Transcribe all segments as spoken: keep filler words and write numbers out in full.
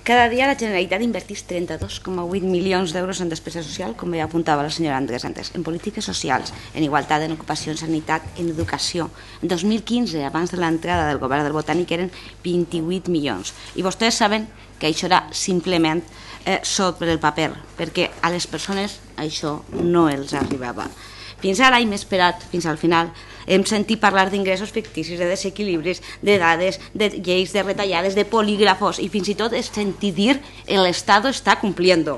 Cada dia la Generalitat inverteix trenta-dos coma vuit milions d'euros en despesa social, com ja apuntava la senyora Andrés antes, en polítiques socials, en igualtat, en ocupació, en sanitat, en educació. En dos mil quinze, abans de l'entrada del govern del Botànic, eren vint-i-vuit milions. I vostès saben que això era simplement eh, sobre el paper, perquè a les persones això no els arribava. Fins ara hem esperat, fins al final, hem sentit parlar d'ingressos ficticis, de desequilibris, de dades, de lleis, de retallades, de polígrafos, i fins i tot es sentir dir que l'Estat està complint.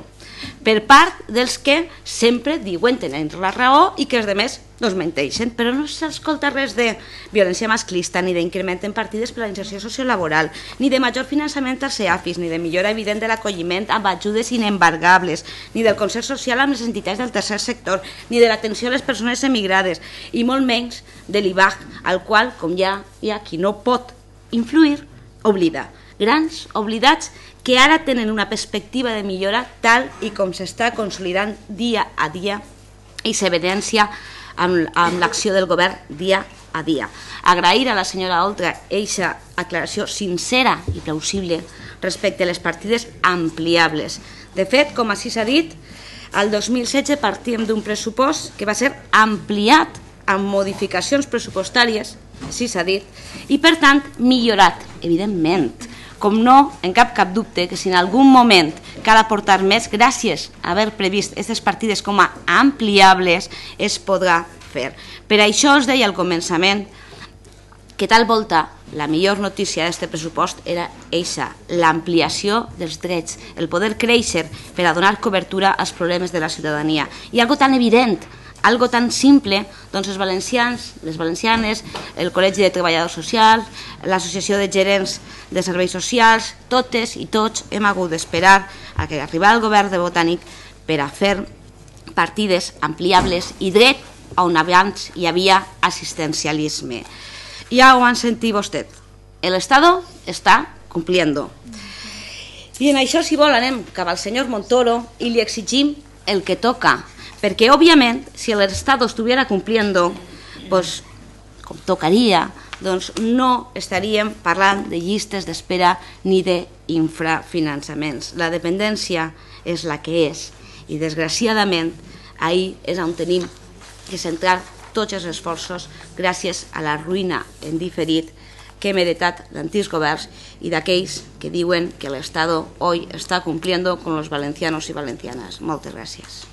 Per part dels que sempre diuen tenir la raó i que els altres doncs menteixen, però no s'escolta res de violència masclista, ni d'increment en partides per a la inserció sociolaboral, ni de major finançament als EAFIS, ni de millora evident de l'acolliment amb ajudes inembargables, ni del concert social amb les entitats del tercer sector, ni de l'atenció a les persones emigrades, i molt menys de l'I B A C, al qual, com ja hi ha qui no pot influir, oblida. Grans oblidats que ara tenen una perspectiva de millora tal i com s'està consolidant dia a dia i s'evidencia amb, amb l'acció del govern dia a dia. Agrair a la senyora Oltra eixa aclaració sincera i plausible respecte a les partides ampliables. De fet, com així s'ha dit, el dos mil setze partíem d'un pressupost que va ser ampliat amb modificacions pressupostàries, així s'ha dit, i per tant millorat, evidentment. Com no, en cap cap dubte que si en algun moment cal aportar més, gràcies a haver previst aquestes partides com a ampliables, es podrà fer. Per això us deia al començament que tal volta la millor notícia d'aquest pressupost era eixa, l'ampliació dels drets, el poder créixer per a donar cobertura als problemes de la ciutadania. I algo tan evident, algo tan simple, doncs els valencians, les valencianes, el Col·legi de Treballadors Socials, l'Associació de Gerents de Serveis Socials, totes i tots hem hagut d'esperar a que arribara el govern de Botànic per a fer partides ampliables i dret on abans hi havia assistencialisme. Ja ho han sentit vostès, l'Estat està complint. I en això, si vol, anem cap al senyor Montoro i li exigim el que toca, perquè, òbviament, si l'Estat estuviera cumpliendo, pues, com tocaria, doncs no estaríem parlant de llistes d'espera ni d'infrafinançaments. La dependència és la que és i, desgraciadament, ahir és on tenim que centrar tots els esforços gràcies a la ruïna en diferit que hem heretat d'antics governs i d'aquells que diuen que l'Estat hoy està complint con los valencianos i valencianas. Moltes gràcies.